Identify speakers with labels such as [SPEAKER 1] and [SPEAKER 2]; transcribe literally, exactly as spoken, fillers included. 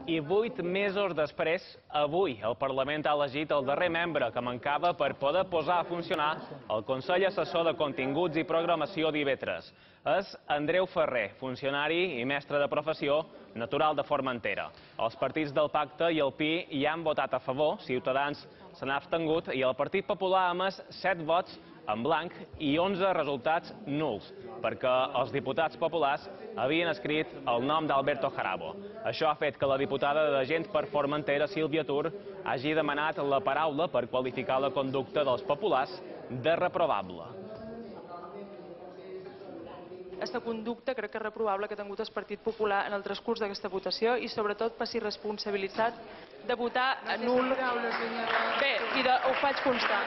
[SPEAKER 1] I vuit mesos després, avui, el Parlament ha elegit el darrer membre que mancava per poder posar a funcionar el Consell Assessor de Continguts i Programació d'I V tres. És Andreu Ferrer, funcionari i mestre de professió, natural de Formentera. Els partits del Pacte i el Pi hi han votat a favor, Ciutadans se n'ha abstengut i el Partit Popular ha emès set vots en blanc i onze resultats nuls, perquè els diputats populars havien escrit el nom d'Alberto Jarabo. Això ha fet que la diputada de Gent per Formentera, Sílvia Tur, hagi demanat la paraula per qualificar la conducta dels populars de reprovable.
[SPEAKER 2] Aquesta conducta crec que és reprovable que ha tingut el Partit Popular en el transcurs d'aquesta votació i sobretot per si responsabilitat de votar nul. Bé, i ho faig constar.